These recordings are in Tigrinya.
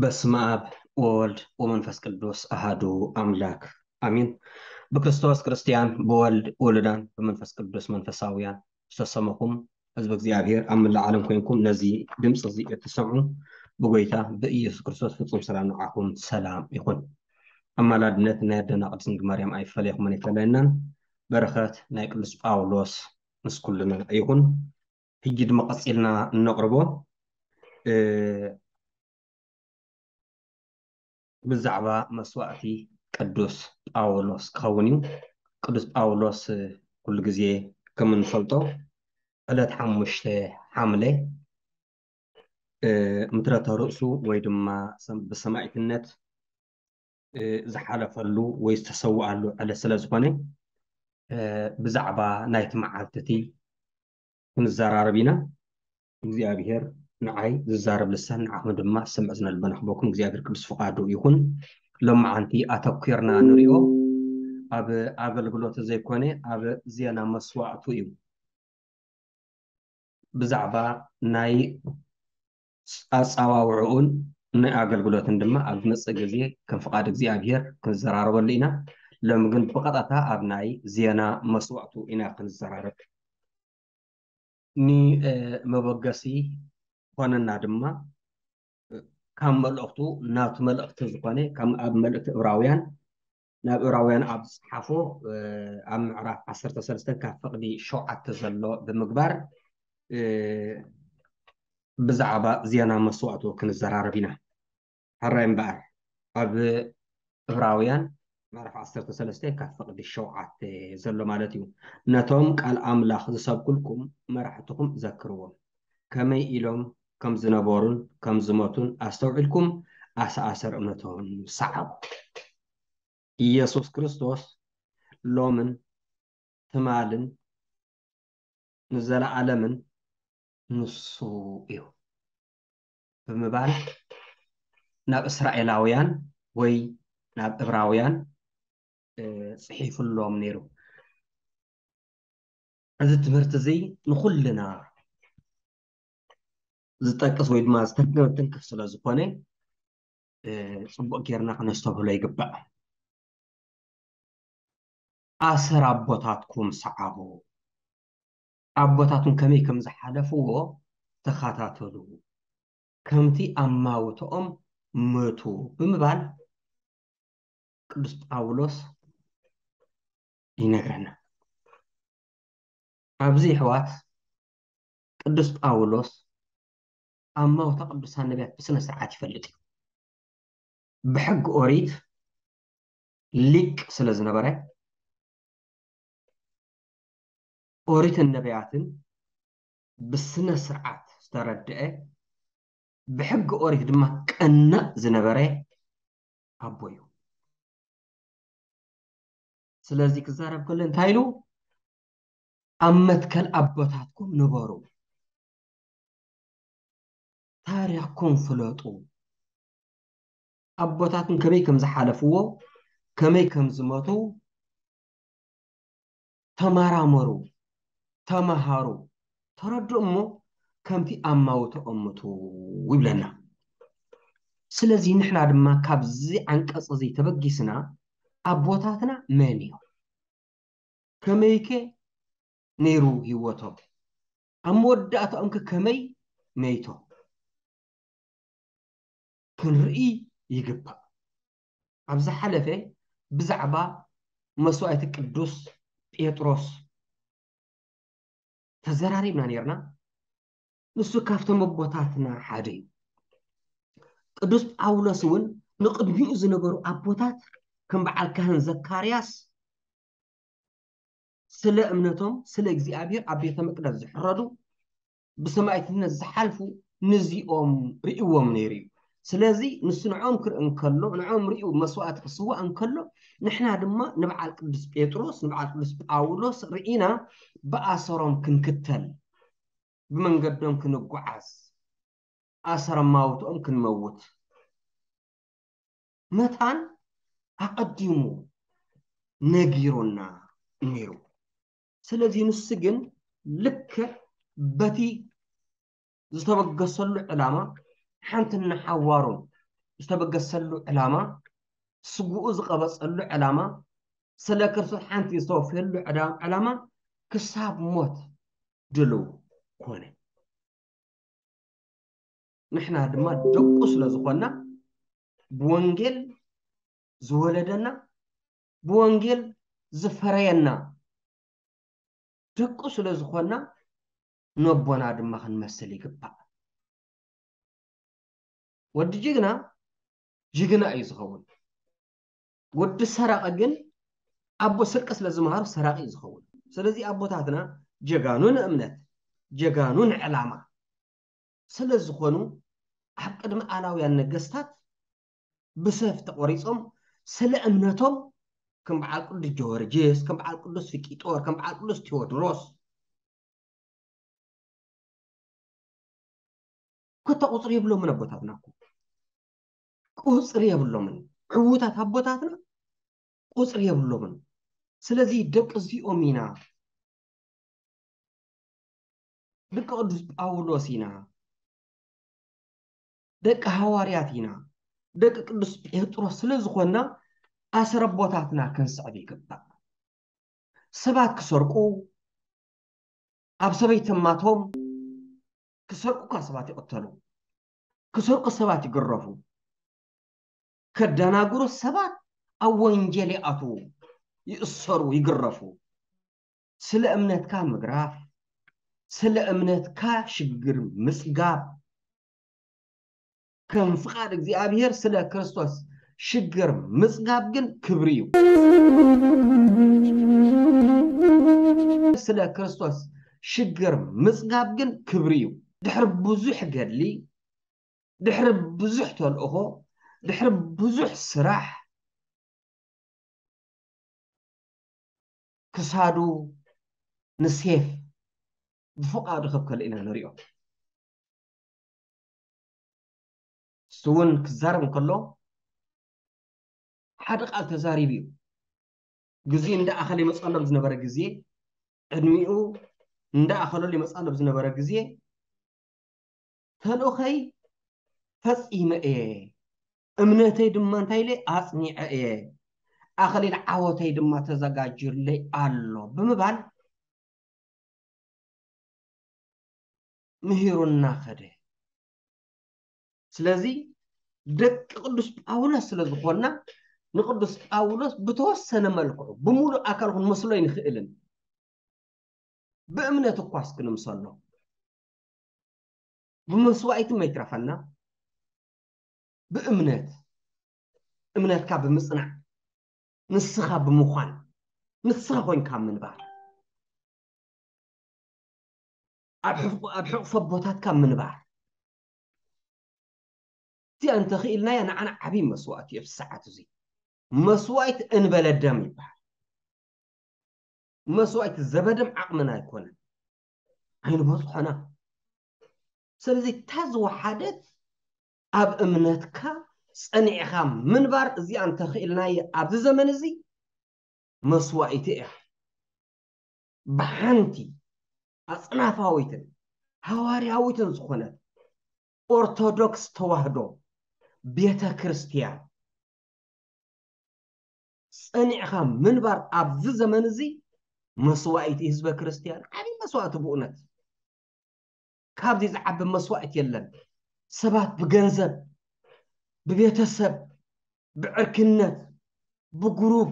በስመ ኣብ ወወልድ ወመንፈስ ቅዱስ ኣሃዱ ኣምላክ ኣሚን። ብክርስቶስ ክርስትያን፣ ብወልድ ውሉዳን፣ ብመንፈስ ቅዱስ መንፈሳውያን ዝተሰመኹም ህዝቢ እግዚኣብሔር ኣብ መላእ ዓለም ኮይንኩም ነዚ ድምፂ እዚ እትሰምዑ ብጎይታ ብኢየሱስ ክርስቶስ ፍጹም ሰላም ንዓኹም ሰላም ይኹን። ኣማላድነት ናይ ኣደና ቅድስት ድንግል ማርያም ኣይፈለየኹምን ኣይፈለየናን። በረኸት ናይ ቅዱስ ጳውሎስ ምስ ኩልና ይኹን። ሕጂ ድማ ቀፂልና እነቕርቦ ብዛዕባ መስዋእቲ ቅዱስ ጳውሎስ ክኸውን እዩ። ቅዱስ ጳውሎስ ኩሉ ግዜ ከም እንፈልጦ ዕለት ሓሙሽተ ሓምለ ምትረተ ርእሱ ወይ ድማ ብሰማዕትነት ዝሓለፈሉ ወይ ዝተሰውኣሉ ዕለት ስለ ዝኾነ ብዛዕባ ናይቲ መዓልቲ እቲ ክንዘራረብ ኢና። እግዚኣብሔር ንዓይ ዝዛረብ ልሳን ንዓኹም ድማ ዝሰምዕ ዝነ ልቦና ክበኩም እግዚኣብሔር ቅዱስ ፍቓዱ ይኹን። ሎማዓንቲ ኣተኲርና ንሪኦ ኣብ ኣገልግሎት ዘይኮነ ኣብ ዜና መስዋእቱ እዩ። ብዛዕባ ናይ ኣጻዋውዕኡን ናይ ኣገልግሎትን ድማ ኣብ ዝመጽእ ግዜ ከም ፍቓድ እግዚኣብሔር ክንዘራረበሉ ኢና። ሎሚ ግን ብቐጥታ ኣብ ናይ ዜና መስዋእቱ ኢና ክንዘራረብ። ንመበገሲ ኮነና ድማ ካብ መልእኽቱ ናቱ መልእኽቲ ዝኾነ ካብ ኣብ መልእኽቲ እብራውያን ናብ እብራውያን ኣብ ዝጸሓፎ ኣብ ምዕራፍ ዓሰርተ ሰለስተ ካብ ፍቕዲ ሸውዓተ ዘሎ ብምግባር ብዛዕባ ዜና መስዋእቱ ክንዘራረብ ኢና። ሕራይ እምበኣር ኣብ እብራውያን ምዕራፍ ዓሰርተ ሰለስተ ካብ ፍቕዲ ሸውዓተ ዘሎ ማለት እዩ። ነቶም ቃል ኣምላኽ ዝሰብኩልኩም መራሕትኹም ዘክርዎም፣ ከመይ ኢሎም ከም ዝነበሩን ከም ዝሞቱን ኣስተውዒልኩም ኣሰኣሰር እምነቶም ሰዓቡ። ኢየሱስ ክርስቶስ ሎምን ትማልን ንዘለዓለምን ንሱ እዩ ብምባል ናብ እስራኤላውያን ወይ ናብ እብራውያን ጽሒፉሎም ነይሩ። እዚ ትምህርቲ እዚ ንኹልና ዝጠቅስ ወይ ድማ ዝተንክፍ ስለ ዝኾነ ጽቡቕ ጌርና ክነስተብህሎ ይግባእ። ኣሰር ኣቦታትኩም ሰዓቡ። ኣቦታትኩም ከመይ ከም ዝሓለፍዎ ተኸታተሉ። ከምቲ ኣማውትኦም ምቱ ብምባል ቅዱስ ጳውሎስ ይነግረና። ኣብዚ ኣሕዋት ቅዱስ ጳውሎስ ኣማውታ ቅዱሳን ነቢያት ብስነ ስርዓት ይፈልጥ እዩ። ብሕጊ ኦሪት ሊቅ ስለ ዝነበረ ኦሪትን ነቢያትን ብስነ ስርዓት ዝተረድአ ብሕጊ ኦሪት ድማ ቀናእ ዝነበረ ኣቦ እዩ። ስለዚ ክዛረብ ከሎ እንታይ ኢሉ? ኣብ መትከል ኣቦታትኩም ንበሩ፣ ታሪኽኩም ፍለጡ፣ ኣቦታትኩም ከመይ ከም ዝሓለፍዎ ከመይ ከም ዝመቱ ተመራመሩ፣ ተመሃሩ፣ ተረድኡ እሞ ከምቲ ኣማውትኦም ምቱ ይብለና። ስለዚ ንሕና ድማ ካብዚ ዓንቀጽ እዚ ተበጊስና ኣቦታትና መን እዮም? ከመይከ ነይሩ ህይወቶም? ኣብ መወዳእታኦምከ ከመይ መይቶም? ክንርኢ ይግባእ። ኣብ ዝሓለፈ ብዛዕባ መስዋእቲ ቅዱስ ጴጥሮስ ተዘራሪብና ነርና። ንሱ ካብቶም ኣቦታትና ሓደ እዩ። ቅዱስ ጳውሎስ እውን ንቕድሚኡ ዝነበሩ ኣቦታት ከም በዓል ካህን ዘካርያስ ስለ እምነቶም ስለ እግዚኣብሔር ኣብ ቤተ መቅደስ ዝሕረዱ ብሰማዕትነት ዝሓልፉ ንዚኦም ርእይዎም ነይሩ እዩ። ስለዚ ንሱ ንዕኦም ክርኢ እንከሎ ንዕኦም ርእዩ መስዋእቲ ክስዋእ እንከሎ ንሕና ድማ ንበዓል ቅዱስ ጴጥሮስ ንበዓል ቅዱስ ጳውሎስ ርኢና ብኣሰሮም ክንክተል ብመንገዶም ክንጓዓዝ ኣሰር ኣማውትኦም ክንመውት መታን ኣቐዲሙ ነጊሩና ነይሩ። ስለዚ ንሱ ግን ልክዕ በቲ ዝተበገሰሉ ዕላማ ሓንቲ ንሓዋሩን ዝተበገሰሉ ዕላማ፣ ስግኡ ዝቐበጸሉ ዕላማ፣ ስለ ክርስቶስ ሓንቲ ዝተወፍየሉ ዕዳ-፣ ዕላማ ክሳብ ሞት ድልው ኮነ። ንሕና ድማ ደቁ ስለ ዝኾንና፣ ብወንጌል ዝወለደና፣ ብወንጌል ዝፈረየና ደቁ ስለ ዝኾንና፣ ነቦና ድማ ክንመስል ይግባእ። ወዲ ጅግና ጅግና እዩ ዝኸውን። ወዲ ሰራቂ ግን ኣቦ ስርቂ ስለ ዝመሃሩ ሰራቂ እዩ ዝኸውን። ስለዚ ኣቦታትና ጀጋኑ ንእምነት፣ ጀጋኑ ንዕላማ ስለ ዝኾኑ፣ ኣብ ቅድሚ ኣላውያን ነገስታት ብሰፍ ተቆሪጾም ስለ እምነቶም፣ ከም በዓል ቅዱስ ጀወርጅስ፣ ከም በዓል ቅዱስ ፊቂጦር፣ ከም በዓል ቅዱስ ቴዎድሮስ፣ ኮታ ቁጽሪ የብሎምን ኣቦታትና እኮ። ቁጽሪ የብሎምን። ዕዉታት ኣቦታትና ቁጽሪ የብሎምን። ስለዚ ደቂ እዚኦም ኢና። ደቂ ቅዱስ ጳውሎስ ኢና። ደቂ ሃዋርያት ኢና። ደቂ ቅዱስ ጴጥሮስ ስለ ዝኾንና፣ ኣሰር ኣቦታትና ክንስዕብ ይግባእ። ሰባት ክሰርቁ፣ ኣብ ሰበይቲ ማቶም ክሰርቁ እኳ ሰባት ይቕተሉ፣ ክሰርቁ ሰባት ይግረፉ፣ ከደናግሩ ሰባት ኣብ ወንጀል ይኣትዉ፣ ይእሰሩ፣ ይግረፉ። ስለ እምነትካ ምግራፍ፣ ስለ እምነትካ ሽግር ምጽጋብ፣ ከም ፍቓድ እግዚኣብሔር ስለ ክርስቶስ ሽግር ምጽጋብ ግን ክብሪ እዩ። ስለ ክርስቶስ ሽግር ምጽጋብ ግን ክብሪ እዩ። ድሕሪ ብዙሕ ገድሊ፣ ድሕሪ ብዙሕ ተልእኾ፣ ድሕሪ ብዙሕ ስራሕ፣ ክሳዱ ንሴፍ ብፍቓዱ ከብከሉ ኢና ንሪኦ። እሱ እውን ክዛረብ እንከሎ ሓደ ቃል ተዛሪቡ እዩ። ግዜ እንዳኣኸለ ይመፀሎም ዝነበረ ግዜ፣ ዕድሚኡ እንዳኣኸለሉ ይመፀሎም ዝነበረ ግዜ፣ ተልእኾይ ፈጺመ እየ፣ እምነተይ ድማ እንታይ ኢለ ኣጽኒዐ እየ፣ ኣኽሊል ዓወተይ ድማ ተዘጋጅዩለይ ኣሎ ብምባል ምሂሩና ኸደ። ስለዚ ደቂ ቅዱስ ጳውሎስ ስለ ዝኾንና፣ ንቅዱስ ጳውሎስ ብተወሰነ መልክዑ፣ ብምሉእ ኣካሉ ክንመስሎ ኣይንኽእልን። ብእምነት እኳስ ክንምሰሎ፣ ብመስዋእቲ መይትረፈና፣ ብእምነት፣ እምነትካ ብምጽናዕ፣ ንስኻ ብምዃን፣ ንስኻ ኮይንካ ምንባር፣ ኣብ ሕፍ-፣ ኣብ ሕቑፎ ኣቦታትካ ምንባር። እዚኣ እንተኽኢልናያ ንዓና ዓብዪ መስዋእቲ እዩ። ኣብዚ ሰዓት እዚ መስዋእቲ እንበለ ደም ይበሃል። መስዋእቲ ዘበደም ዓቕምና ኣይኮነን፣ ኣይንበጽሖና። ስለዚ እታ ዝወሓደት ኣብ እምነትካ ጸኒዕኻ ምንባር፣ እዚኣ እንተኽኢልናየ ኣብዚ ዘመን እዚ መስዋእቲ እያ። ብሓንቲ ኣጽናፋዊትን ሃዋርያዊትን ዝኾነት ኦርቶዶክስ ተዋህዶ ቤተ ክርስቲያን ጸኒዕኻ ምንባር ኣብዚ ዘመን እዚ መስዋእቲ ህዝበ ክርስቲያን፣ ዓብዪ መስዋእቲ ብእውነት። ካብዚ ዝዓቢ መስዋእቲ የለን። ሰባት ብገንዘብ፣ ብቤተሰብ፣ ብዕርክነት፣ ብግሩፕ፣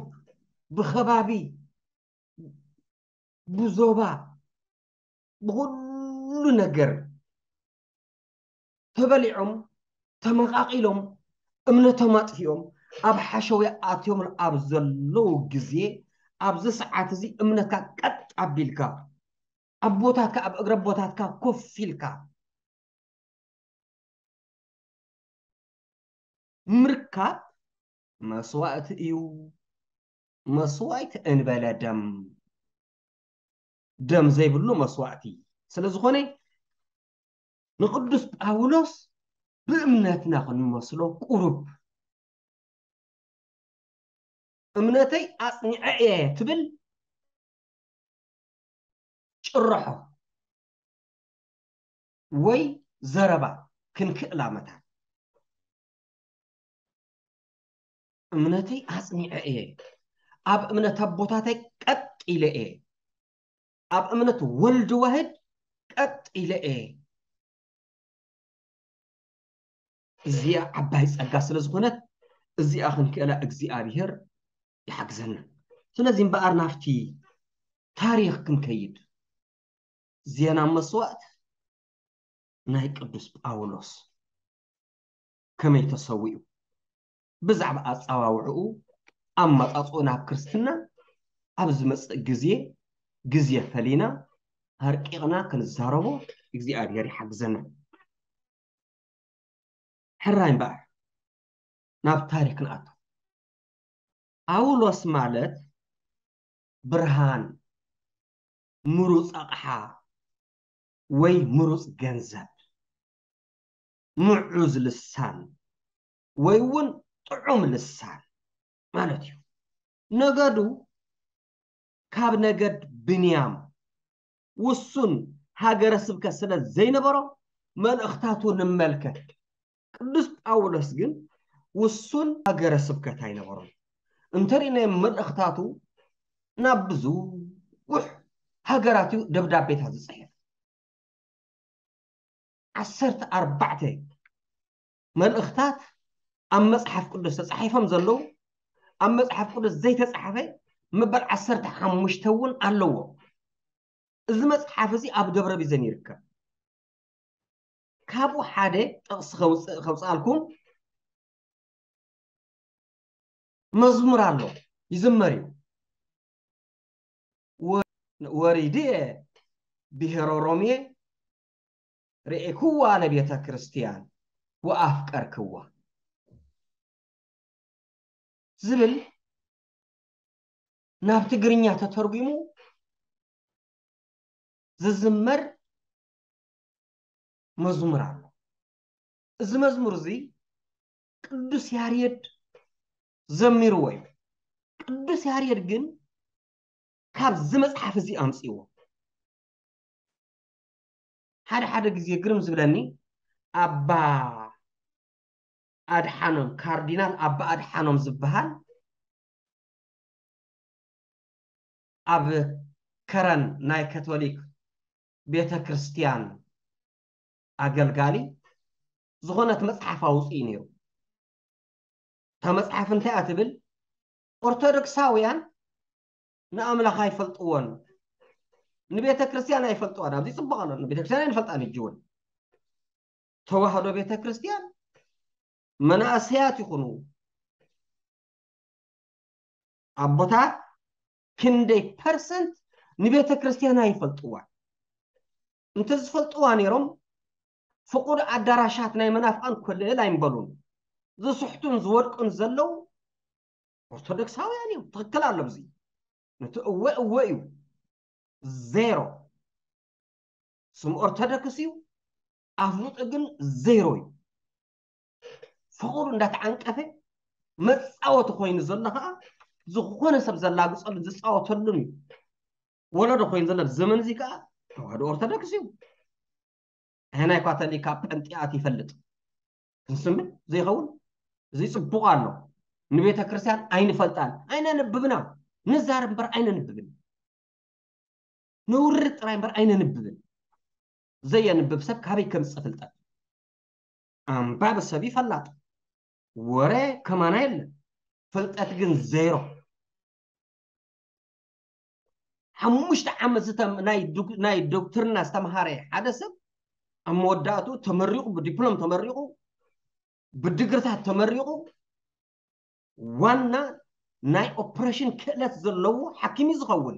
ብኸባቢ፣ ብዞባ፣ ብኹሉ ነገር ተበሊዖም፣ ተመቓቒሎም፣ እምነቶም ኣጥፊኦም፣ ኣብ ሓሸውየ ኣትዮም ኣብ ዘለዉ ግዜ፣ ኣብዚ ሰዓት እዚ እምነትካ ቀጥ ኣቢልካ፣ ኣቦታትካ ኣብ እግሪ ኣቦታትካ ኮፍ ኢልካ ምርካብ መስዋእቲ እዩ። መስዋእቲ እንበለ ደም፣ ደም ዘይብሉ መስዋእቲ ስለ ዝኾነ፣ ንቅዱስ ጳውሎስ ብእምነትና ክንመስሎ ቁሩብ፣ እምነተይ ኣጽኒዐ እየ ትብል ጭርሖ ወይ ዘረባ ክንክእላ መታን። እምነተይ ኣጽኒዐ እየ። ኣብ እምነት ኣቦታተይ ቀጥ ኢለ እየ። ኣብ እምነት ወልድ ዋህድ ቀጥ ኢለ እየ። እዚኣ ዓባይ ጸጋ ስለ ዝኾነት፣ እዚኣ ክንክእላ እግዚኣብሔር ይሓግዘና። ስለዚ እምበኣር ናብቲ ታሪኽ ክንከይድ፣ ዜና መስዋእት ናይ ቅዱስ ጳውሎስ ከመይ ተሰዊኡ፣ ብዛዕባ ኣጸዋውዕኡ፣ ኣመጻጽኡ ናብ ክርስትና ኣብ ዝመጽእ ግዜ፣ ግዜ ፈሊና ኣርቂቕና ክንዛረቦ እግዚኣብሔር ይሓግዘና። ሕራይ እምበኣር ናብ ታሪክ ንኣቱ። ጳውሎስ ማለት ብርሃን፣ ምሩፅ ኣቕሓ ወይ ምሩፅ ገንዘብ፣ ምዑዝ ልሳን ወይ እውን ጥዑም ልሳን ማለት እዩ። ነገዱ ካብ ነገድ ብንያም ውሱን ሃገረ ስብከት ስለ ዘይነበሮ መልእኽታቱ ንመልከት። ቅዱስ ጳውሎስ ግን ውሱን ሃገረ ስብከት ኣይነበሮን። እንተሪእናዮ መልእኽታቱ ናብ ብዙሕ ሃገራት እዩ ደብዳቤታት ዝጽሕፍ። ዓሰርተ ኣርባዕተ መልእኽታት ኣብ መጽሓፍ ቅዱስ ተጻሒፎም ዘለዉ፣ ኣብ መጽሓፍ ቅዱስ ዘይተጻሕፈ መበል ዓሰርተ ሓሙሽተ እውን ኣለዎ። እዚ መጽሓፍ እዚ ኣብ ደብረ ቢዘን ይርከብ። ካብኡ ሓደ ጥቕሲ ከውፅእ ከውፅኣልኩም። መዝሙር ኣሎ፣ ይዝመር እዩ። ወ- ወሪድየ ብሔረ ሮሜ ርኤክዋ ለቤተ ክርስቲያን ወኣፍቀርክዋ ዝብል ናብ ትግርኛ ተተርጉሙ ዝዝመር መዝሙር ኣሎ። እዚ መዝሙር እዚ ቅዱስ ያሬድ ዘሚርዎ እዩ። ቅዱስ ያሬድ ግን ካብዚ መጽሓፍ እዚ ኣምጽእዎ። ሓደ ሓደ ግዜ ግርም ዝብለኒ ኣባ ኣድሓኖም፣ ካርዲናል ኣባ ኣድሓኖም ዝበሃል ኣብ ከረን ናይ ካቶሊክ ቤተ ክርስቲያን ኣገልጋሊ ዝኾነት መጽሓፍ ኣውፅኡ ነይሩ። እታ መጽሓፍ እንታይ እያ ትብል? ኦርቶዶክሳውያን ንኣምላኽ ኣይፈልጥዎን፣ ንቤተ ክርስቲያን ኣይፈልጥዋን። ኣብዚ ጽቡቕ ኣሎ፣ ንቤተ ክርስቲያን ኣይንፈልጣን። ሕጂ እውን ተዋህዶ ቤተ ክርስቲያን መናእሰያት ይኹኑ ኣቦታት ክንደይ ፐርሰንት ንቤተ ክርስቲያን ኣይፈልጥዋን? እንተዝፈልጥዋ ነይሮም ፍቁድ ኣዳራሻት ናይ መናፍቃን ኮልል ኣይምበሉን። ዝስሕቱን ዝወድቁን ዘለዉ ኦርቶዶክሳውያን እዮም። ትኽክል ኣሎ። እዚ ነቲ እወ እወ እዩ። ዜሮ። ስም ኦርቶዶክስ እዩ፣ ኣፍልጦ ግን ዜሮ እዩ። ፍቕሩ እንዳተዓንቀፈ መፃወቲ ኮይኑ ዘሎ ከዓ ዝኾነ ሰብ ዘላግፀሉን ዝፃወተሉን እዩ። ወለዶ ኮይኑ ዘሎ ዘመን እዚ ከዓ ተዋህዶ ኦርቶዶክስ እዩ። ኣየናይ ካቶሊካ ጴንጤኣት ይፈልጥ? ክንስምን ዘይኸውን? እዚ ፅቡቕ ኣሎ። ንቤተ ክርስቲያን ኣይንፈልጣን፣ ኣይነንብብና። ንዛረብ እምበር ኣይነንብብን። ነውርድ ጥራይ እምበር ኣይነንብብን። ዘየንብብ ሰብ ካበይ ከምፅእ ፍልጠት? ኣንባቢ ሰብ እዩ ፈላጥ። ወረ ከማና የለን። ፍልጠት ግን ዜሮ። ሓሙሽተ ዓመት ዝተም- ናይ ዶክ- ናይ ዶክትርና ዝተምሃረ ሓደ ሰብ ኣብ መወዳእቱ ተመሪቑ፣ ብዲፕሎም ተመሪቑ፣ ብድግርታት ተመሪቑ፣ ዋና ናይ ኦፕሬሽን ክእለት ዘለዎ ሓኪም እዩ ዝኸውን።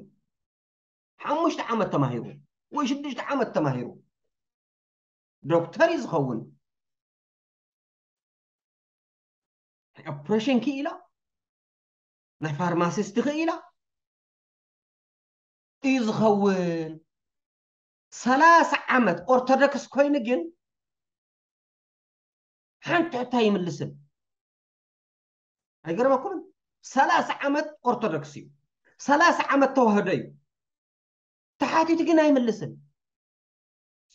ሓሙሽተ ዓመት ተማሂሩ ወይ ሽዱሽተ ዓመት ተማሂሩ ዶክተር እዩ ዝኸውን። ናይ ኦፕሬሽን ክኢላ፣ ናይ ፋርማሲስት ክኢላ እዩ ዝኸውን። ሰላሳ ዓመት ኦርቶዶክስ ኮይኑ ግን ሓንቲ ሕቶ ኣይምልስን። ኣይገርመኩምን? ሰላሳ ዓመት ኦርቶዶክስ እዩ፣ ሰላሳ ዓመት ተዋህዶ እዩ። ተሓቲቱ ግን ኣይምልስን።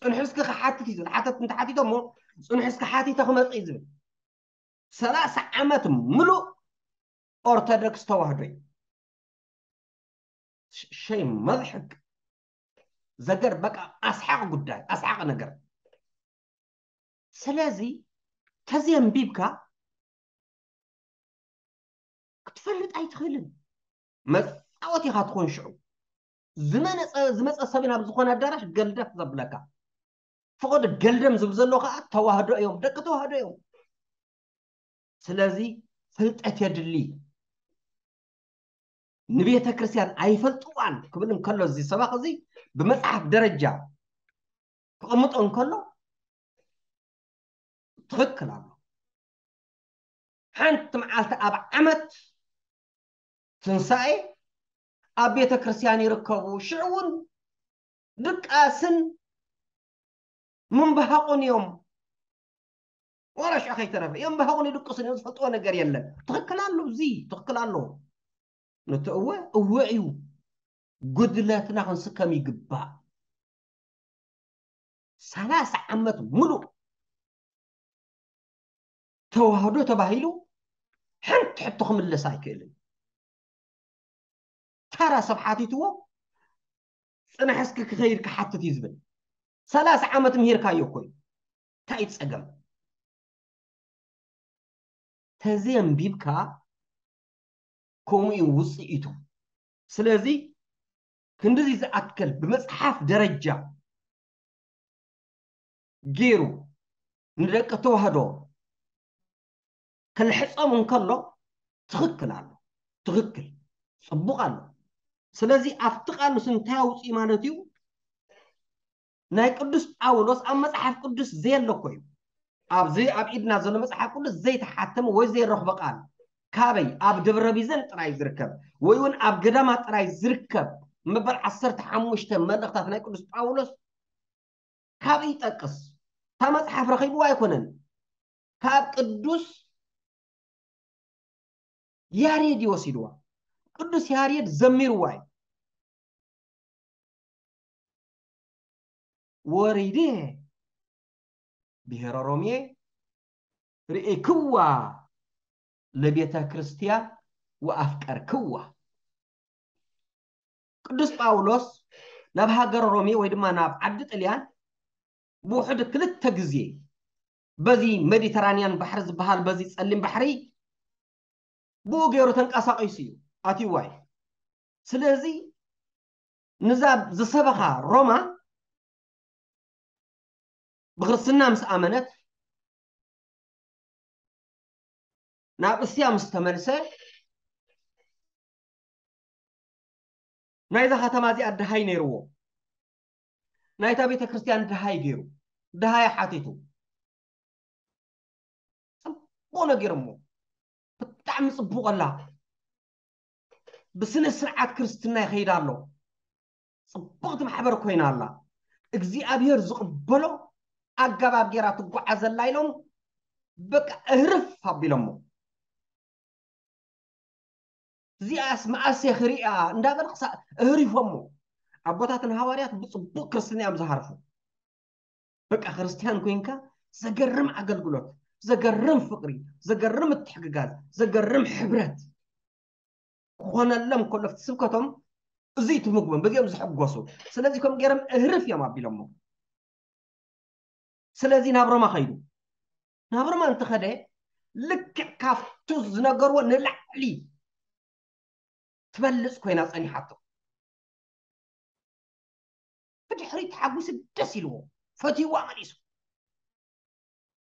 ፅንሑ እስኪ ክሓትት እዩ ዝብል። ሓተት እንተሓቲቶ እሞ ፅንሑ እስኪ ሓቲተ ክመፅእ እዩ ዝብል። ሰላሳ ዓመት ምሉእ ኦርቶዶክስ ተዋህዶ እዩ። ሸይ መضحክ ዘገር በቃ ኣስሓቂ ጉዳይ ኣስሓቂ ነገር። ስለዚ ተዘየንቢብካ ክትፈልጥ ኣይትኽእልን። መፃወት ኢኻ ትኾን ሽዑ። ዝመፀ ሰብ ናብ ዝኾነ ኣዳራሽ ገልደፍ ዘብለካ። ፈቐዶ ገልደም ዝብ ዘሎ ከዓ ተዋህዶ እዮም፣ ደቂ ተዋህዶ እዮም። ስለዚ ፍልጠት የድሊ። ንቤተ ክርስቲያን ኣይፈልጥዋን ክብል እንከሎ እዚ ሰባኽ እዚ ብመፅሓፍ ደረጃ ክቕምጦ እንከሎ ትኽክል ኣሎ። ሓንቲ መዓልቲ ኣብ ዓመት ትንሳኤ ኣብ ቤተ ክርስቲያን ይርከቡ። ሽዑ እውን ድቃስን ምንባሃቑን እዮም። ዋላ ሽዑ ከይተረፈ እዮም ምንባሃቑን ይድቅሱን እዮም። ዝፈልጥዎ ነገር የለን። ትኽክል ኣሎ፣ እዚ ትኽክል ኣሎ። ነቲ እወ እወ እዩ። ጉድለትና ክንስከም ይግባእ። ሰላሳ ዓመት ሙሉእ ተዋህዶ ተባሂሉ ሓንቲ ሕቶ ክምለስ ኣይክእልን። ተራ ሰብ ሓቲትዎ ፅናሕ እስኪ ክኸይድ ክሓትት እዩ ዝብል። ሰላሳ ዓመት ምሂርካዮ እኮ እዩ። እንታይ እዩ ፀገም? ተዘየንቢብካ ከምኡ እዩ ውፅኢቱ። ስለዚ ክንድዚ ዝኣክል ብመፅሓፍ ደረጃ ገይሩ ንደቂ ተዋህዶ ክልሕፆም እንከሎ ትኽክል ኣሎ፣ ትኽክል ፅቡቕ ኣሎ። ስለዚ ኣብቲ ቃል ንሱ እንታይ ኣውፅኡ ማለት እዩ? ናይ ቅዱስ ጳውሎስ ኣብ መፅሓፍ ቅዱስ ዘየለ እኮ እዩ። ኣብዚ ኣብ ኢድና ዘሎ መፅሓፍ ቅዱስ ዘይተሓተመ ወይ ዘይረኽቦ ቃል ካበይ? ኣብ ደብረ ቢዘን ጥራይ ዝርከብ ወይ እውን ኣብ ገዳማት ጥራይ ዝርከብ መበል ዓሰርተ ሓሙሽተ መልእኽታት ናይ ቅዱስ ጳውሎስ ካብይ ይጠቅስ? እታ መፅሓፍ ረኺብዋ ኣይኮነን፣ ካብ ቅዱስ ያሬድ ይወሲድዋ። ቅዱስ ያሬድ ዘሚርዋ እዩ። ወሪዴ ብሔረ ሮሜ ርኢክዋ ለቤተ ክርስቲያን ወኣፍቀርክዋ። ቅዱስ ጳውሎስ ናብ ሃገር ሮሜ ወይ ድማ ናብ ዓዲ ጥልያን ብውሕድ ክልተ ግዜ በዚ ሜዲተራንያን ባሕሪ ዝበሃል በዚ ጸሊም ባሕሪ ብኡ ገይሩ ተንቀሳቒሱ እዩ ኣትይዋ እዩ። ስለዚ ንዛ ዝሰበኻ ሮማ ብክርስትና ምስ ኣመነት ናብ እስያ ምስ ተመልሰ ናይዛ ከተማ እዚኣ ድሃይ ነይርዎ። ናይታ ቤተ ክርስቲያን ድሃይ ገይሩ ድሃይ ሓቲቱ ፅቡቕ ነጊሮሞ። ብጣዕሚ ፅቡቕ ኣላ። ብስነ ስርዓት ክርስትና ይኸይድ ኣሎ። ፅብቕቲ ማሕበር ኮይና ኣላ። እግዚኣብሔር ዝቕበሎ ኣገባብ ገይራ ትጓዓዘላ ኢሎም በቃ እህርፍ ኣቢሎሞ። እዚኣስ መኣሰ ክሪኣ እንዳበለ ክሳዕ እህሪፎሞ። ኣቦታትን ሃዋርያት ብፅቡቕ ክርስትና እዮም ዝሃርፉ። በቃ ክርስቲያን ኮይንካ ዘገርም ኣገልግሎት፣ ዘገርም ፍቕሪ፣ ዘገርም ምትሕግጋዝ፣ ዘገርም ሕብረት ክኾነሎም ከሎ ኣብቲ ስብከቶም እዚ ትምግቦም በዚኦም ዝሕጎሱ። ስለዚ ከም ገይሮም እህርፍ እዮም ኣቢሎሞ። ስለዚ ናብ ሮማ ኸይዱ። ናብ ሮማ እንትኸደ ልክዕ ካብቱ ዝነገርዎ ንላዕሊ ትበልፅ ኮይና ፀኒሓቶ። ብድሕሪ ተሓጒሱ ደስ ኢልዎ ፈትይዋ መሊሱ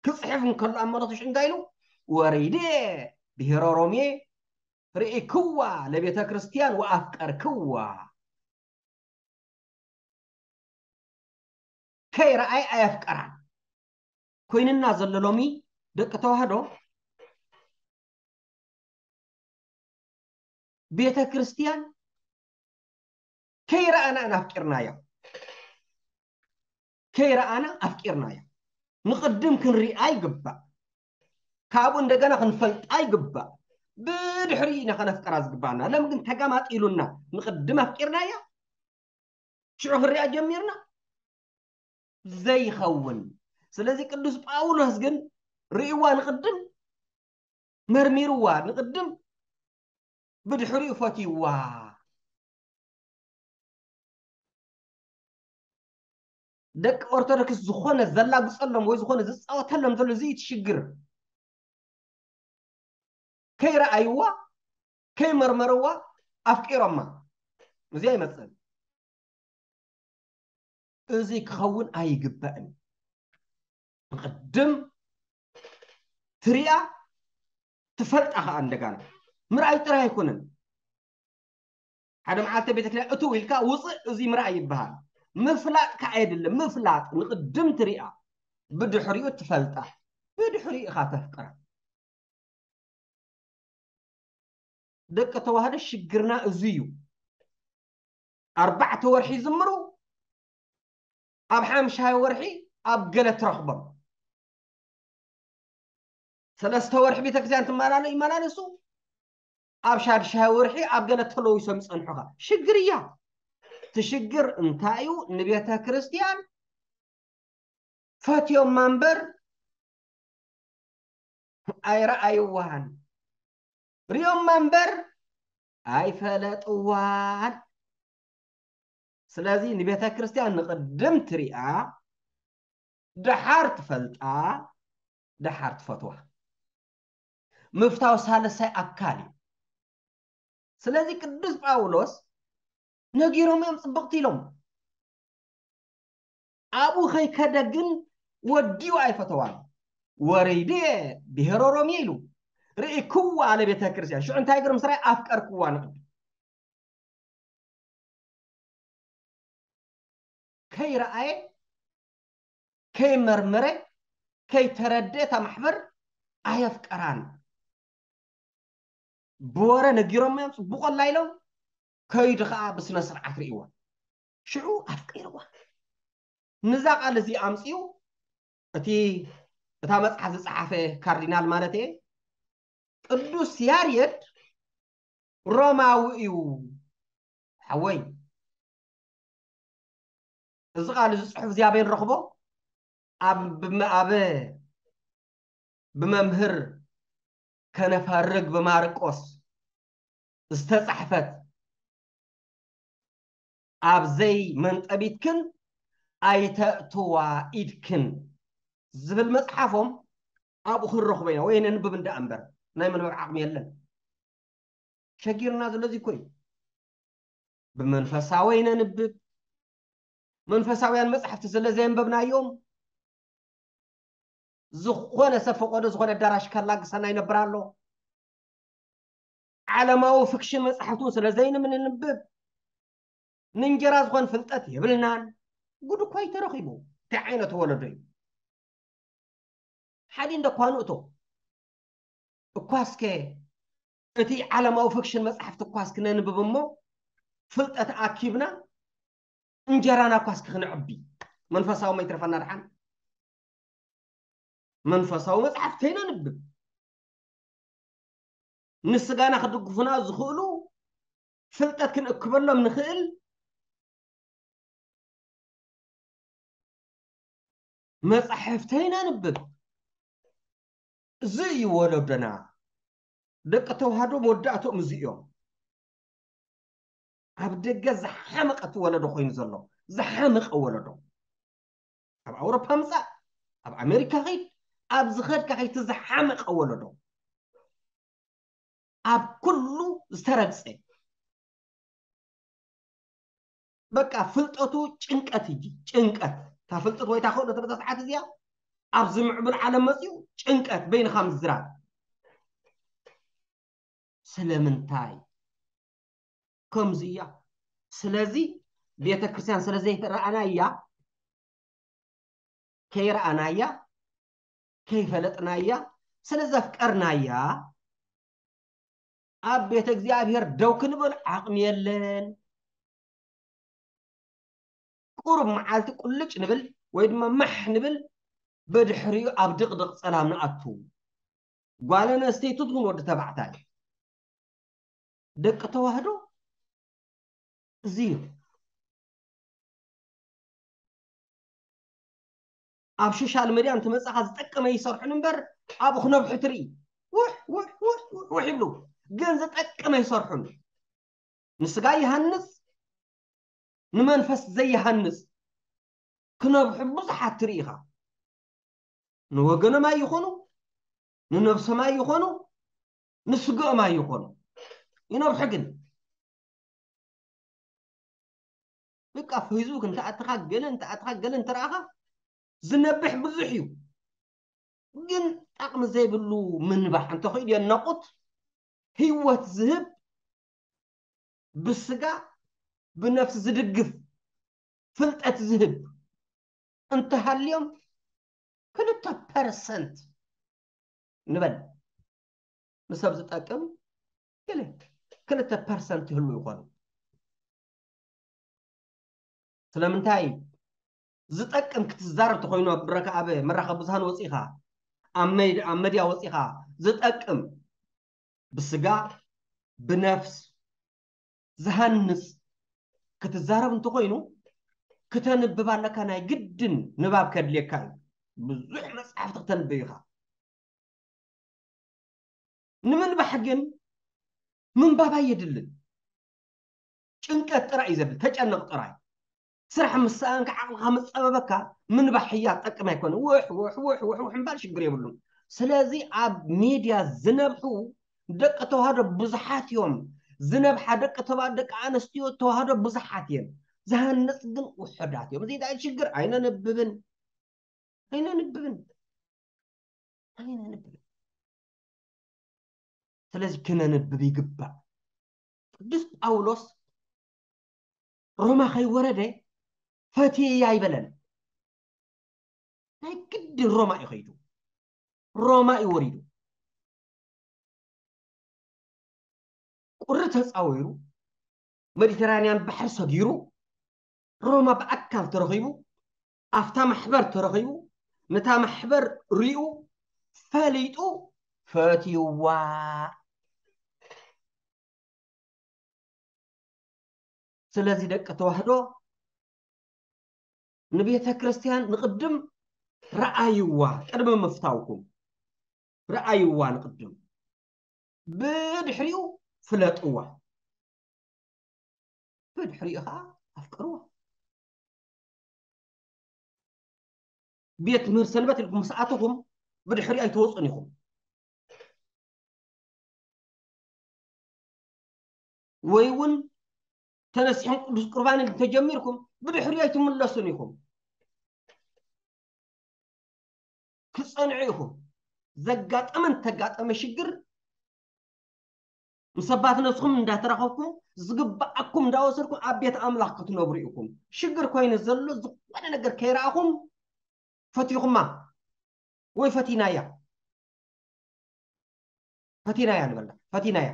ክፅሕፍ እንከሎ ኣብ መረቱ ሽንጋ ኢሉ ወሪዴ ብሔረ ሮሜ ርኢክዋ ለቤተ ክርስቲያን ወኣፍቀርክዋ። ከይረኣይ ኣየፍቀራን ኮይንና ዘሎ ሎሚ ደቂ ተዋህዶ ቤተ ክርስቲያን ከይረኣና ኣፍቂርናዮ። ከይረኣና ኣፍቂርናዮ። ንቕድም ክንሪኣ ይግባእ። ካብኡ እንደገና ክንፈልጣ ይግባእ። ብድሕሪ ኢና ከነፍቀራ ዝግባእና። ለም ግን ተጋማጢሉና ንቕድም ኣፍቂርናዮ ሽዑ ክንሪኣ ጀሚርና ዘይኸውን። ስለዚ ቅዱስ ጳውሎስ ግን ርእይዋ ንቕድም መርሚርዋ ንቕድም ብድሕሪኡ ፈትይዋ። ደቂ ኦርቶዶክስ ዝኾነ ዘላግጸሎም ወይ ዝኾነ ዝጻወተሎም ዘሎ እዚ እቲ ሽግር። ከይረኣይዋ፣ ከይመርመርዋ ኣፍቂሮማ። እዚ ኣይመጽእን። እዚ ክኸውን ኣይግባእን። ብቕድም ትሪኣ፣ ትፈልጣ ኸኣ እንደጋና። ምርኣይ ጥራይ ኣይኮነን። ሓደ መዓልቲ ቤተክርስትያን እትው ኢልካ ውፅእ፣ እዚ ምርኣይ ይበሃል። ምፍላጥ ከዓ የድሊ። ምፍላጥ ንቕድም ትሪኣ፣ ብድሕሪኡ ትፈልጣ፣ ብድሕሪኡ ኢኻ ተፍቅራ። ደቂ ተዋህዶ ሽግርና እዚ እዩ። ኣርባዕተ ወርሒ ይዝምሩ፣ ኣብ ሓምሻይ ወርሒ ኣብ ገለ ትረኽቦም። ሰለስተ ወርሒ ቤተክርስትያን ትመላለሱ ይመላለሱ፣ ኣብ ሻድሻይ ወርሒ ኣብ ገለ ተለዊሶም ይጸንሑኻ። ሽግር እያ። እቲ ሽግር እንታይ እዩ? ንቤተ ክርስቲያን ፈትዮማ እምበር ኣይረኣይዋን፣ ሪኦማ እምበር ኣይፈለጥዋን። ስለዚ ንቤተ ክርስቲያን ንቕድም ትሪኣ፣ ደሓር ትፈልጣ፣ ደሓር ትፈትዋ። ምፍታው ሳልሳይ ኣካል እዩ። ስለዚ ቅዱስ ጳውሎስ ነጊሮም እዮም ጽብቕቲ ኢሎም። ኣብኡ ከይከደ ግን ወዲኡ ኣይፈተዋን። ወሪድየ ብሄረ ሮሜ ኢሉ ርኢክዋ ኣለ ቤተ ክርስቲያን። ሽዑ እንታይ ገይሩ ምስ ራእየ ኣፍቀርክዋ ንቕድም። ከይረኣየ፣ ከይመርመረ፣ ከይተረድአ እታ ማሕበር ኣየፍቀራን። ብወረ ነጊሮም እዮም፣ ጽቡቕ ኣላ ኢሎም፣ ከይዱ ኸኣ ብስነ ስርዓት ርእይዋ። ሽዑ ኣፍቂርዋ። ንዛ ቃል እዚ ኣምጺኡ እቲ፣ እታ መጽሓፍ ዝጸሓፈ ካርዲናል ማለት እየ፣ ቅዱስ ያሬድ ሮማዊ እዩ። ሓወይ፣ እዚ ቃል እዚ ጽሑፍ እዚ ኣበይ ንረኽቦ? ኣብ፣ ብመ-፣ ኣብ ብመምህር ከነፈርግ ብማርቆስ ዝተጻሕፈት ኣብ ዘይ መንጠቢትክን ኣይተእትዋ ኢድክን ዝብል መጽሓፎም ኣብኡ ክንረኽቦ ኢና፣ ወይ ነንብብ እንዳ እምበር ናይ መንበብ ዓቕሚ የለን። ሸጊርና ዘሎ እዚ እኮ እዩ። ብመንፈሳዊ ነንብብ፣ መንፈሳውያን መጻሕፍቲ ስለ ዘየንበብናዮም፣ ዝኾነ ሰብ ፈቆዶ ዝኾነ ኣዳራሽ ከላግሰና ይነብር ኣሎ። ዓለማዊ ፍክሽን መጻሕፍቲ እውን ስለ ዘይንምንንብብ፣ ንእንጀራ ዝኾን ፍልጠት የብልናን። ጉድ እኮ እዩ ተረኺቡ። እንታይ ዓይነት ወለዶ እዩ? ሓደ እንደ እኳ ንእቶ። እኳ እስከ እቲ ዓለማዊ ፍክሽን መጻሕፍቲ እኳ እስኪ ነንብብ እሞ፣ ፍልጠት ኣኪብና፣ እንጀራና እኳ እስኪ ክነዕቢ። መንፈሳዊ መይትረፈና ደሓን። መንፈሳዊ መጻሕፍቲ ነንብብ። ንስጋና ክድግፉና ዝኽእሉ ፍልጠት ክንእክበሎም ንኽእል መጻሕፍቲ ነንብብ። እዚ እዩ ወለዶና። ደቂ ተዋህዶ መወዳእትኦም እዚ እዮም። ኣብ ደገ ዝሓመቐ እቲ ወለዶ ኮይኑ ዘሎ፣ ዝሓመቐ ወለዶ። ኣብ ኣውሮፓ ምጻእ፣ ኣብ ኣሜሪካ ኸይድ፣ ኣብ ዝኸድካ ኸይድ፣ እቲ ዝሓመቐ ወለዶ። ኣብ ኩሉ ዝተረግጸ። በቃ ፍልጠቱ ጭንቀት እዩ፣ ጭንቀት። እታ ፍልጠት ወይ እታ ክእለት በዛ ሰዓት እዚኣ ኣብዚ ምዕቡል ዓለም መጺኡ ጭንቀት፣ በይንኻ ምዝራብ። ስለምንታይ? ከምዚ እያ። ስለዚ ቤተ ክርስቲያን ስለ ዘይረኣናያ፣ ከይረኣናያ፣ ከይፈለጥናያ፣ ስለ ዘፍቀርናያ፣ ኣብ ቤተ እግዚኣብሔር ደው ክንብል ዓቕሚ የለን። ቁሩብ መዓልቲ ቁልጭ ንብል ወይ ድማ ማሕ ንብል፣ ብድሕሪኡ ኣብ ድቕድቕ ጸላም ንኣቱ። ጓል ኣንስተይቲ ትኹን ወዲ ተባዕታይ፣ ደቂ ተዋህዶ እዚ እዩ። ኣብ ሶሻል ሚድያ እንትመጻኻ ዝጠቀመ ይሰርሑን እምበር፣ ኣብኡ ክነብሑ ትርኢ። ውሕ፣ ውሕ፣ ውሕ፣ ውሕ፣ ውሕ ይብሉ። ግን ዝጠቅም ኣይሰርሑን። ንስጋ ይሃንጽ፣ ንመንፈስ ዘይሃንጽ ክነብሑ ብዙሓት ትርኢ ኢኻ። ንወገኖም ኣይኾኑ፣ ንነብሶም ኣይኾኑ፣ ንስግኦም ኣይኾኑ። ይነብሑ ግን በቃ ፌስቡክ እንተኣትኻ ገለ እንተኣትኻ ገለ እንተረኣኻ ዝነብሕ ብዙሕ እዩ። ግን ጠቕሚ ዘይብሉ ምንባሕ እንተኽኢሉ የናቑት ህይወት ዝህብ ብስጋ ብነፍሲ ዝድግፍ ፍልጠት ዝህብ እንተሃልዮም ክልተ ፐርሰንት ንበል ንሰብ ዝጠቅም ገለ ክልተ ፐርሰንት ይህሉ ይኾኑ። ስለምንታይ ዝጠቅም ክትዛረብ ተኾይኑ ኣብ ብረካ ኣብ መራኸቢ ብዙሃን ወፂኻ ኣብ መድ- ኣብ መድያ ወፂኻ ዝጠቅም ብስጋ ብነፍስ ዝሃንጽ ክትዛረብ እንተኾይኑ ክተንብብ ኣለካ። ናይ ግድን ንባብ ከድልየካ እዩ። ብዙሕ መጽሓፍቲ ክተንብብ ኢኻ። ንምንባሕ ግን ምንባብ ኣየድልን። ጭንቀት ጥራይ እዩ ዘድል። ተጨነቕ ጥራይ። ስራሕ ምስ ሰኣንካ ዓቕልኻ ምስ ጸበበካ ምንባሕ ህያ ጠቅም ኣይኮነ። ውሕ ውሕ ውሕ ውሕ ውሕ እምባል ሽግር የብሉን። ስለዚ ኣብ ሚድያ ዝነብሑ ደቂ ተዋህዶ ብዙሓት እዮም። ዝነብሓ ደቂ ተባ ደቂ ኣንስትዮ ተዋህዶ ብዙሓት እየን። ዝሃንጽ ግን ውሑዳት እዮም። እዚ እንታይ ሽግር? ኣይነንብብን ኣይነንብብን ኣይነንብብን። ስለዚ ክነንብብ ይግባእ። ቅዱስ ጳውሎስ ሮማ ከይወረደ ፈትየ ኣይበለን። ናይ ግድን ሮማ እዩ ከይዱ። ሮማ እዩ ወሪዱ። ቁሪ ተፃዊሩ፣ ሜዲተራንያን ባሕሪ ሰጊሩ፣ ሮማ ብኣካል ተረኺቡ፣ ኣብታ ማሕበር ተረኺቡ፣ ነታ ማሕበር ሪኡ፣ ፈሊጡ፣ ፈትይዋ። ስለዚ ደቂ ተዋህዶ ንቤተ ክርስቲያን ንቕድም ረኣይዋ፣ ቅድሚ ምፍታውኩም ረኣይዋ ንቕድም፣ ብድሕሪኡ ፍለጥዋ፣ ብድሕሪኡ ከዓ ኣፍቅርዋ። ቤት ትምህርቲ ሰንበት ኢልኩም ምስ ኣተኹም ብድሕሪኡ ኣይትወፁን ኢኹም። ወይ እውን ተነሲሕኩም ቅዱስ ቁርባን እንተጀሚርኩም ብድሕሪኡ ኣይትምለሱን ኢኹም። ክፀንዑ ኢኹም። ዘጋጠመን ተጋጠመ ሽግር ምስ ኣባት ነስኹም እንዳተራኸብኩም ዝግባኣኩም እንዳወሰድኩም ኣብ ቤት ኣምላኽ ክትነብሩ ኢኹም። ሽግር ኮይኑ ዘሎ ዝኾነ ነገር ከይረኣኹም ፈቲኹማ ወይ ፈቲናያ ፈቲናያ ንበላ ፈቲናያ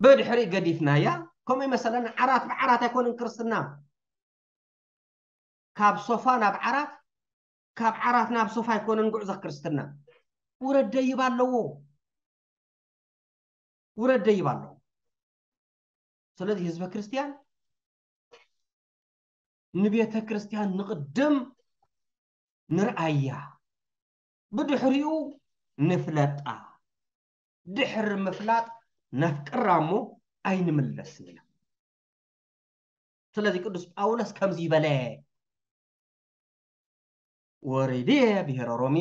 ብድሕሪ ገዲፍናያ። ከምኡ ይመሰለና። ዓራት ብዓራት ኣይኮነን ክርስትና። ካብ ሶፋ ናብ ዓራት፣ ካብ ዓራት ናብ ሶፋ ኣይኮነን ጉዕዞ ክርስትና። ውረድ ደይብ ኣለዎ። ውረድ ደይብ ኣለዎ። ስለዚ ህዝበ ክርስቲያን ንቤተ ክርስቲያን ንቕድም ንርኣያ፣ ብድሕሪኡ ንፍለጣ። ድሕሪ ምፍላጥ ነፍቅራ እሞ ኣይንምለስን ኢና። ስለዚ ቅዱስ ጳውሎስ ከምዚ ይበለ፣ ወሪድየ ብሔረ ሮሜ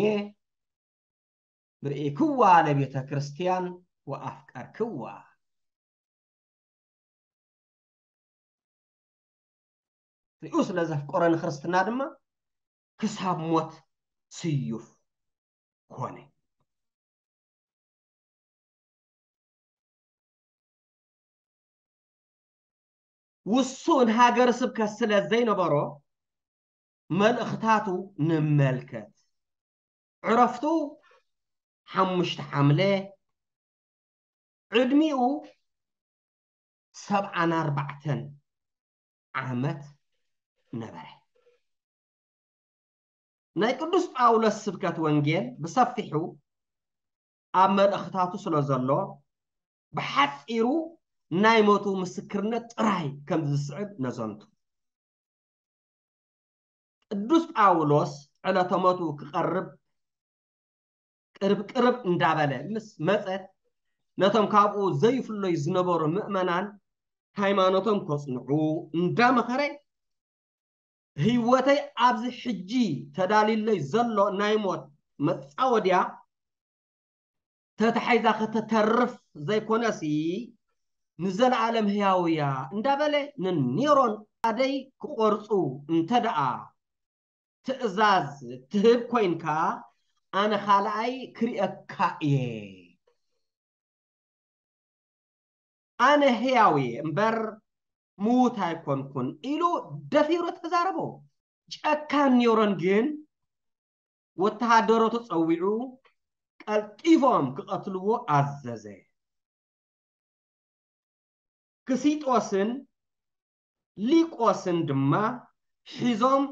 ብርኢክዋ ለቤተ ክርስቲያን ወኣፍቀርክዋ። ሪኡ ስለ ዘፍቀሮ ንክርስትና ድማ ክሳብ ሞት ስዩፍ ኮነ። ውሱን ሃገረ ስብከት ስለ ዘይነበሮ መልእኽታቱ ንመልከት። ዕረፍቱ ሓሙሽተ ሓምለ፣ ዕድሚኡ ሰብዓን ኣርባዕተን ዓመት ነበረ። ናይ ቅዱስ ጳውሎስ ስብከት ወንጌል ብሰፊሑ ኣብ መልእኽታቱ ስለ ዘሎ ብሓጺሩ ናይ ሞቱ ምስክርነት ጥራይ ከም ዝስዕብ ነዘንቱ። ቅዱስ ጳውሎስ ዕለተ ሞቱ ክቐርብ ቅርብ ቅርብ እንዳበለ ምስ መጸት፣ ነቶም ካብኡ ዘይፍለዩ ዝነበሩ ምእመናን ሃይማኖቶም ከጽንዑ እንዳመኸረ፣ ህይወተይ ኣብዚ ሕጂ ተዳልዩለይ ዘሎ ናይ ሞት መጻወድያ ተታሒዛ ከተተርፍ ዘይኮነሲ፣ ንዘለኣለም ህያው እያ እንዳበለ ንኔሮን ኣደይ ክቖርጹ እንተ ደኣ ትእዛዝ ትህብ ኮይንካ፣ ኣነ ካልኣይ ክርእየካ እየ። ኣነ ህያው እየ እምበር ምዉት ኣይኮንኩን ኢሉ ደፊሩ ተዛረቦ። ጨካን ኔሮን ግን ወተሃደሮቱ ጸዊዑ ቀልጢፎም ክቐትልዎ ኣዘዘ። ክሲጦስን ሊቆስን ድማ ሒዞም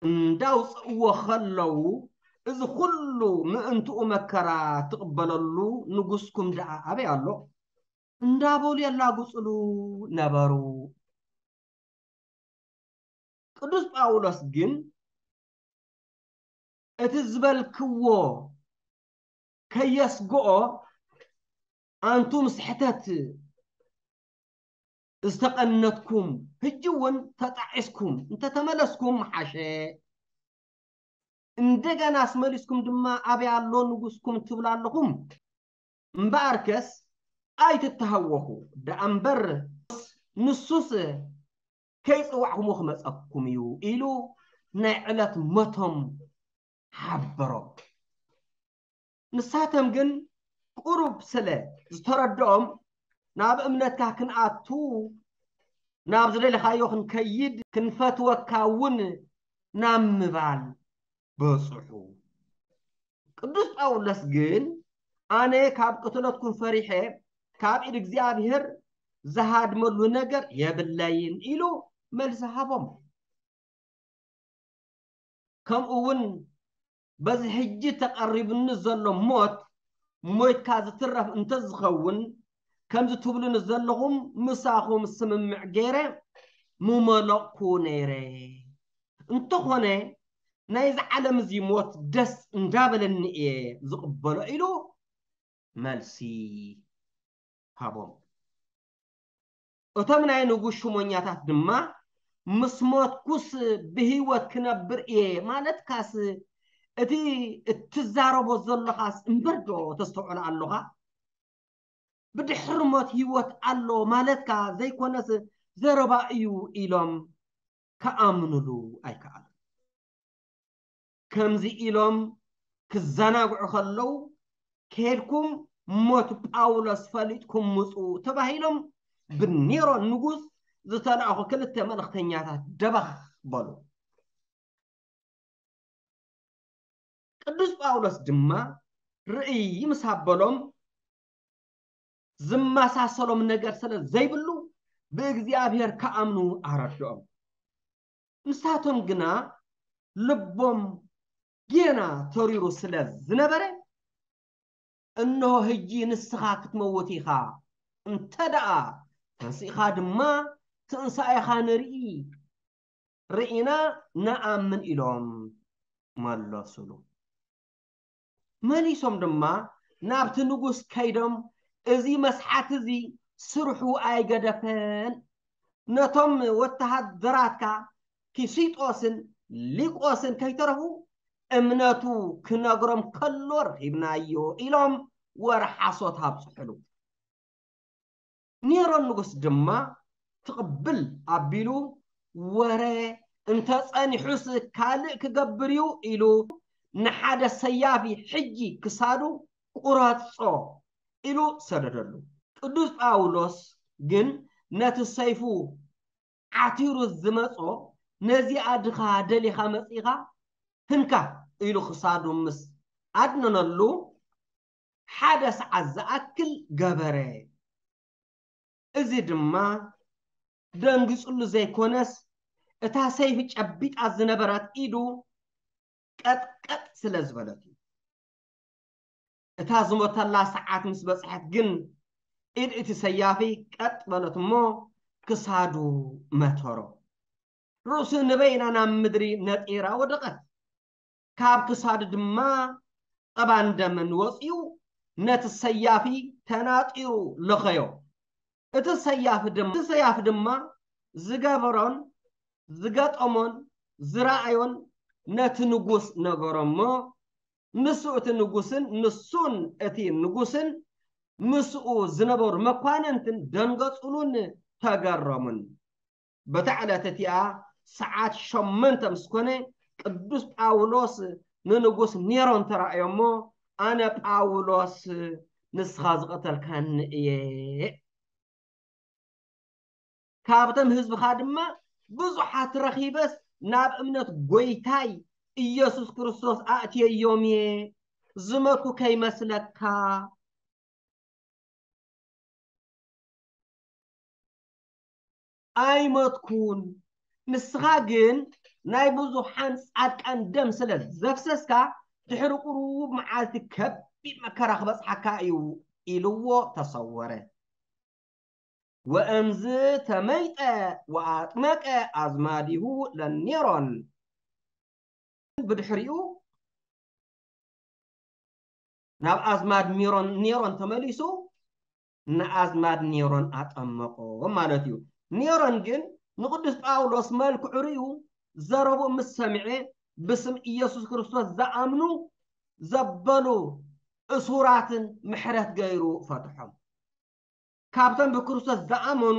እንዳውፅእዎ ከለዉ፣ እዚ ኩሉ ምእንትኡ መከራ ትቕበለሉ ንጉስኩም ደኣ ኣበይ ኣሎ? እንዳበሉ የላጉፅሉ ነበሩ። ቅዱስ ጳውሎስ ግን እቲ ዝበልክዎ ከየስግኦ፣ ኣንቱም ስሕተት ዝተቐነትኩም፣ ሕጂ እውን ተጣዒስኩም እንተተመለስኩም ምሓሸ። እንደገና ኣስመሊስኩም ድማ ኣበይ ኣሎ ንጉስኩም ትብሉ ኣለኹም። እምበኣርከስ ኣይትተሃወኹ ደኣ እምበር፣ ንሱስ ከይጸዋዕኩሞ ክመጸኩም እዩ ኢሉ ናይ ዕለት ሞቶም ሓበሮም። ንሳቶም ግን ቁሩብ ስለ ዝተረድኦም፣ ናብ እምነትካ ክንኣቱ፣ ናብ ዝደለኻዮ ክንከይድ፣ ክንፈትወካ እውን ናብ ምባል በጽሑ። ቅዱስ ጳውሎስ ግን፣ ኣነ ካብ ቅትለትኩም ፈሪሐ ካብ ኢድ እግዚኣብሔር ዝሃድመሉ ነገር የብለይን ኢሉ መልሲ ሃቦም። ከምኡ እውን በዚ ሕጂ ተቐሪቡኒ ዘሎ ሞት ሞይትካ ዝትረፍ እንተዝኸውን፣ ከምዚ ትብሉኒ ዘለኹም ምሳኹም ስምምዕ ገይረ ምመለቕኩ ነይረ። እንተኾነ ናይዚ ዓለም እዚ ሞት ደስ እንዳበለኒ እየ ዝቕበሎ ኢሉ መልሲ ሃቦም። እቶም ናይ ንጉስ ሹመኛታት ድማ፣ ምስ ሞትኩስ ብህይወት ክነብር እየ ማለትካስ፣ እቲ እትዛረቦ ዘለኻስ እምበር ዶ ተስተውዕሎ ኣለኻ? ብድሕሪ ሞት ህይወት ኣሎ ማለትካ ዘይኮነስ ዘረባ እዩ ኢሎም ክኣምኑሉ ኣይከኣሉን። ከምዚ ኢሎም ክዘናግዑ ከለዉ፣ ከይድኩም ሞት ጳውሎስ ፈሊጥኩም ምጹ ተባሂሎም ብኔሮን ንጉስ ዝተላእኹ ክልተ መልእኽተኛታት ደበኽ በሉ። ቅዱስ ጳውሎስ ድማ ርእይ ምስ ኣበሎም ዝመሳሰሎም ነገር ስለ ዘይብሉ ብእግዚኣብሔር ክኣምኑ ኣረድኦም። ንሳቶም ግና ልቦም ጌና ተሪሩ ስለ ዝነበረ፣ እንሆ ሕጂ ንስኻ ክትመውት ኢኻ፣ እንተ ደኣ ተንሲእኻ ድማ ትንሳኤኻ ንርኢ፣ ርኢና ንኣምን ኢሎም መለሱሉ። መሊሶም ድማ ናብቲ ንጉስ ከይዶም፣ እዚ መስሓት እዚ ስርሑ ኣይገደፈን፣ ነቶም ወተሃደራትካ ኪሲጦስን ሊቆስን ከይተረፉ እምነቱ ክነግሮም ከሎ ረኺብናዮ ኢሎም ወረ ሓሶት ኣብፅሑሉ። ኔሮን ንጉስ ድማ ትቕብል ኣቢሉ፣ ወረ እንተጸኒሑስ ካልእ ክገብር እዩ ኢሉ ንሓደ ሰያፊ ሕጂ ክሳዱ ቁረጾ ኢሉ ሰደደሉ። ቅዱስ ጳውሎስ ግን ነቲ ሰይፉ ዓቲሩ ዝመጾ፣ ነዚኣ ድኻ ደሊኻ መጺኻ ህንካ ኢሉ ክሳዱ ምስ ኣድነነሉ፣ ሓደ ሰዓት ዝኣክል ገበረ። እዚ ድማ ደንጊጽሉ ዘይኮነስ፣ እታ ሰይፊ ጨቢጣ ዝነበረት ኢዱ ቀጥቀጥ ስለ ዝበለት እዩ። እታ ዝሞተላ ሰዓት ምስ በጽሐት ግን፣ ኢድ እቲ ሰያፊ ቀጥ በለት እሞ ክሳዱ መተሮ። ርእሱ ንበይና ናብ ምድሪ ነጢራ ወደቐት። ካብ ክሳዱ ድማ ጸባን ደምን ወጺኡ ነቲ ሰያፊ ተናጢሩ ለኸዮ። እቲ ሰያፊ ድማ ዝገበሮን ዝገጠሞን ዝረኣዮን ነቲ ንጉስ ነገሮ እሞ፣ ንሱ እቲ ንጉስን ንሱን እቲ ንጉስን ምስኡ ዝነበሩ መኳንንትን ደንገጹሉን ተገረሙን። በታ ዕለት እቲኣ ሰዓት ሸሞንተ ምስ ኮነ፣ ቅዱስ ጳውሎስ ንንጉስ ኔሮን ተራእዮ እሞ፣ ኣነ ጳውሎስ ንስኻ ዝቐተልካኒ እየ። ካብቶም ህዝብኻ ድማ ብዙሓት ረኺበስ ናብ እምነት ጎይታይ ኢየሱስ ክርስቶስ ኣእትየዮም እየ፣ ዝመቱ ከይመስለካ። ኣይመትኩን። ንስኻ ግን ናይ ብዙሓን ጻድቃን ደም ስለ ዘፍሰስካ፣ ድሕሪ ቁሩብ መዓልቲ ከቢድ መከራ ክበጽሓካ እዩ ኢልዎ ተሰወረ። ወእምዝ ተመይጠ ወኣጥመቀ ኣዝማዲሁ ለኔሮን። ብድሕሪኡ ናብ ኣዝማድ ኔሮን ኔሮን ተመሊሱ ንኣዝማድ ኔሮን ኣጠመቆ ማለት እዩ። ኔሮን ግን ንቅዱስ ጳውሎስ መልክዑ ርእዩ ዘረብኡ ምስ ሰምዐ፣ ብስም ኢየሱስ ክርስቶስ ዝኣምኑ ዘበሉ እሱራትን ምሕረት ገይሩ ፈትሖም። ካብቶም ብክርስቶስ ዝኣመኑ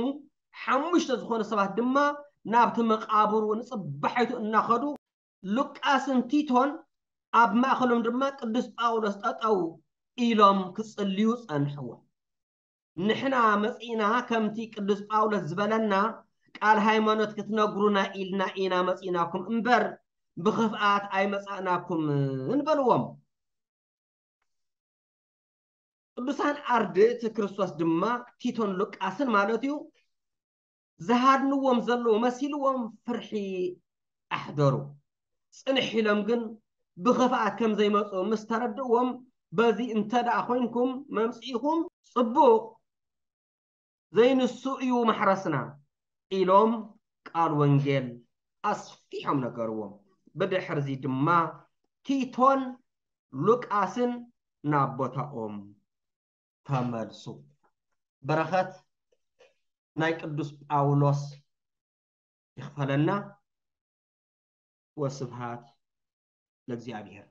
ሓሙሽተ ዝኾኑ ሰባት ድማ ናብቲ መቓብሩ ንጽባሒቱ እናኸዱ፣ ሉቃስን ቲቶን ኣብ ማእከሎም ድማ ቅዱስ ጳውሎስ ጠጠው ኢሎም ክጽልዩ ጸንሕዎ። "ንሕና መጺእና ከምቲ ቅዱስ ጳውሎስ ዝበለና ቃል ሃይማኖት ክትነግሩና ኢልና ኢና መጺእናኩም እምበር ብኽፍኣት ኣይመጻእናኩምን" በልዎም። ቅዱሳን ኣርድእቲ ክርስቶስ ድማ ቲቶን ሉቃስን ማለት እዩ፣ ዝሃድንዎም ዘለዉ መሲልዎም ፍርሒ ኣሕደሩ። ጽንሕ ኢሎም ግን ብኽፍኣት ከም ዘይመጹ ምስ ተረድእዎም፣ "በዚ እንተ ደኣ ኾይንኩም መምጺእኹም ጽቡቕ፣ ዘይንሱ እዩ ማሕረስና" ኢሎም ቃል ወንጌል ኣስፊሖም ነገርዎም። ብድሕርዚ ድማ ቲቶን ሉቃስን ናብ ቦታኦም ተመልሱ። በረኸት ናይ ቅዱስ ጳውሎስ ይኽፈለና። ወስብሃት ለእግዚኣብሔር።